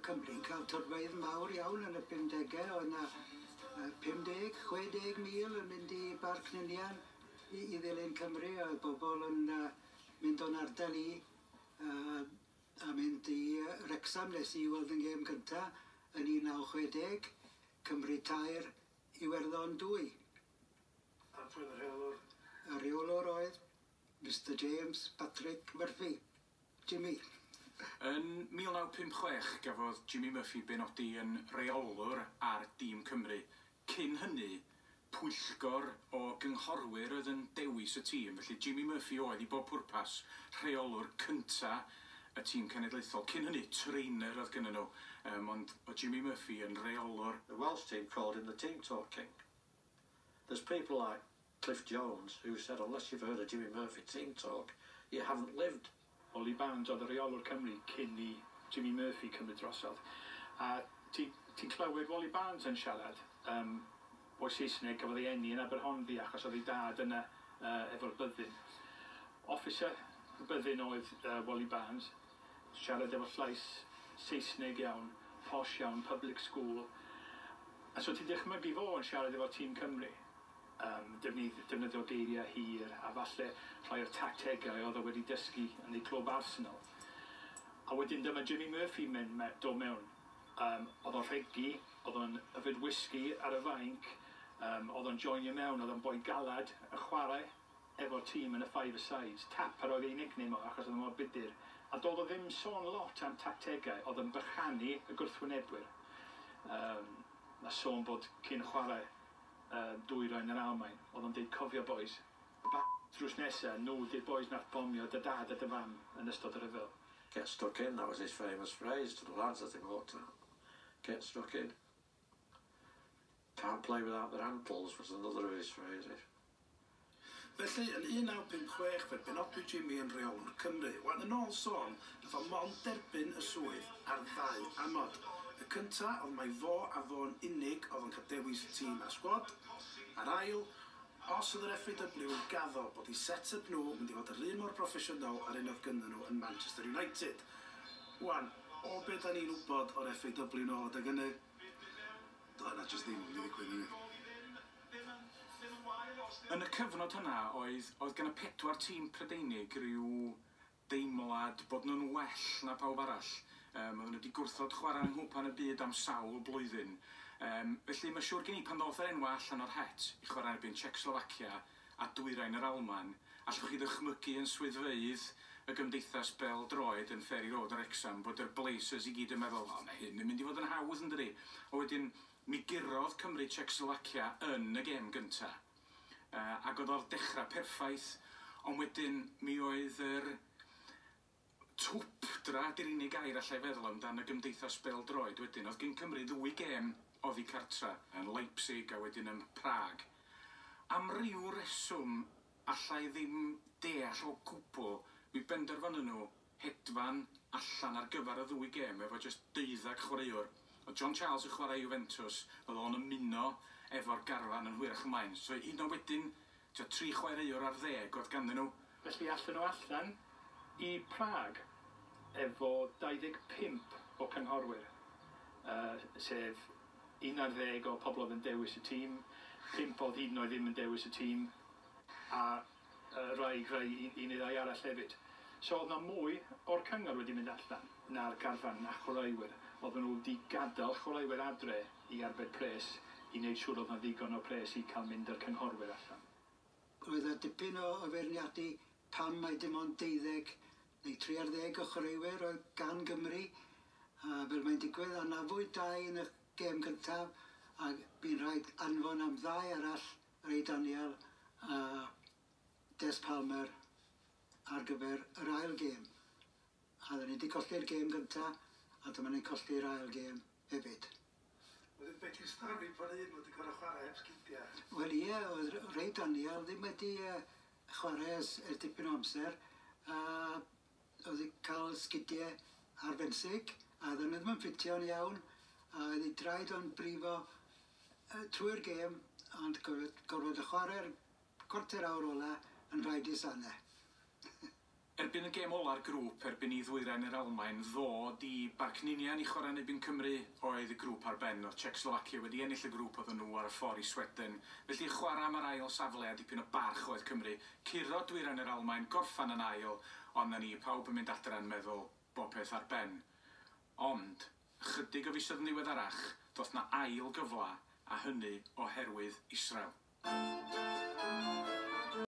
Cymru'n cael torfeydd mawr iawn yn y 50au. Oedd 'na 50, 60 mil yn mynd i Barc Ninian i ddilyn Cymru. Oedd bobl yn mynd o'n ardal i a mynd i Wrecsam. Nes i weld yn gêm gynta yn 1960, Cymru 3, Iwerddon 2. A pwy oedd y rheolwr? Y rheolwr oedd Mr James Patrick Murphy, Jimmy. Yn 1956 gafodd Jimmy Murphy benodi yn reolwr ar dîm Cymru. Cyn hynny, pwyllgor o gynghorwyr oedd yn dewis y tîm, felly Jimmy Murphy oedd i bob pwrpas rheolwr cynta y tîm cenedlaethol. Cyn hynny, trainer oedd gynnyn nhw, ond oedd Jimmy Murphy yn reolwr. The Welsh team called him the Team Talk King. There's people like Cliff Jones who said, "Unless you've heard of Jimmy Murphy Team Talk, you haven't lived." Wally Barnes oedd y rheolwr Cymru cyn i Jimmy Murphy cymryd drosodd. A ti'n ti clywed Wally Barnes yn siarad, boi Saesneg gafodd ei eni yn Aberhonddu achos oedd ei dad yna efo'r byddin. Officer y byddin oedd Wally Barnes, siarad efo llais Saesneg iawn, posh iawn, public school. A so ti'n dychmygu fo yn siarad efo tîm Cymru. Defnyddio geiriau hir a falle rhai o'r tactegau oedd o wedi dysgu yn ei clwb Arsenal. A wedyn dyma Jimmy Murphy dod mewn. Oedd o'n rhegi, oedd o'n yfed whisky ar y fainc, oedd o'n joinio mewn, oedd o'n boi galad yn chwarae efo'r tîm yn y five-a-sides. Tapper oedd ei nickname o achos oedd o mor budur. A doedd o ddim sôn lot am tactegau, oedd yn bychanu y gwrthwynebwyr. Ma sôn bod cyn chwarae dwyrain yr Almaen, oedd o'n deud, "Cofio boys, drws nesa, nhw di'r boys nath bomio dy dad a dy fam yn ystod y rhyfel." "Get stuck in," that was his famous phrase to the lads as they walked out. "Get stuck in." "Can't play without their ankles" was another of his phrases. Felly, yn 1956 fe benodwyd Jimmy yn rheolwr Cymru. Wan, yn ôl sôn, nath o mond derbyn y swydd ar ddau amod. Y cynta oedd mai fo a fo'n unig oedd yn cael dewis y tîm a sgwad. A'r ail, os oedd yr FAW yn gaddo bod eu set-up nhw mynd i fod yr un mor broffesiynol ar un oedd gynnyn nhw yn Manchester United. Wan, o be da ni'n wybod o'r FAW nôl adeg hynny, doedd yna jyst ddim yn mynd i ddigwydd hynny. Yn y cyfnod hynna, oedd gan y pedwar tîm Prydeinig rhyw deimlad bod nhw'n well na pawb arall. Oedden nhw wedi gwrthod chwarae yng Nghwpan y Byd am sawl blwyddyn. Felly mae siŵr gen i pan ddoth yr enwa allan o'r het i chwarae erbyn Czechoslovacia a Dwyrain yr Almaen, allwch chi ddychmygu yn swyddfeydd y Gymdeithas Bêl-droed yn Ferry Road yn Wrexham bod yr Blazers i gyd yn meddwl, "O, mae hyn yn mynd i fod yn hawdd, yn dydi?" A wedyn, mi gurodd Cymru Czechoslovacia yn y gêm gynta. Ac oedd o'r dechrau perffaith, ond wedyn mi oedd yr twpdra, di'r unig gair allai feddwl amdan y Gymdeithas Bêl-droed wedyn. Oedd gen Cymru ddwy gêm oddi cartra, yn Leipzig a wedyn yn Prag. Am ryw reswm allai ddim deall o gwbl, mi benderfynon nhw hedfan allan ar gyfer y ddwy gêm efo jyst 12 chwaraewr. Oedd John Charles yn chwarae Juventus, oedd o'n ymuno efo'r garfan yn hwyrach ymlaen. So un o wedyn, tua tri chwaraewr ar ddeg oedd ganddyn nhw. Felly allan nhw allan i Prag efo 25 o cynghorwyr, sef 11 o pobl oedd yn dewis y tîm, 5 oedd hyd yn oed ddim yn dewis y tîm, a rai un neu ddau arall hefyd. So oedd 'na mwy o'r cyngor wedi mynd allan na'r garfan na chwaraewyr. Oedden nhw wedi gadael chwaraewyr adre i arbed pres i wneud siŵr oedd 'na ddigon o pres i cael mynd â'r cynghorwyr allan. Oedd 'na dipyn o feirniadu pam mai dim ond 12 neu 13 o chwaraewyr oedd gan Gymru. A fel mae'n digwydd, anafwyd dau yn y gêm gyntaf a bu'n rhaid anfon am ddau arall, Ray Daniel a Des Palmer, ar gyfer yr ail gêm. A oedden ni wedi colli'r gêm gyntaf a dyma ni'n colli'r ail gêm hefyd. Wedyn be ti'n stori bod un wedi gorfod chwarae heb sgidiau? Wel ie, oedd Ray Daniel ddim wedi chwarae ers dipyn o amser a oedd wedi cael sgidiau ar fenthyg a oedden nhw ddim yn ffitio'n iawn a oedd ei draed o'n brifo trwy'r gêm, ond gorfod y chwarae'r cwarter awr ola yn rhaid i sanau. Erbyn y gêm ola'r grŵp, erbyn i Ddwyrain yr Almaen ddod i Barc Ninian i chwarae yn erbyn Cymru, oedd y grŵp ar ben. Oedd Czechoslovakia wedi ennill y grŵp, oedden nhw ar y ffordd i Sweden. Felly chwarae am yr ail safle a dipyn o barch oedd Cymru. Curo Dwyrain yr Almaen, gorffan yn ail, ond na ni, pawb yn mynd adra yn meddwl bob peth ar ben. Ond, chydig o fisoedd yn ddiweddarach, doth na ail gyfla, a hynny oherwydd Israel.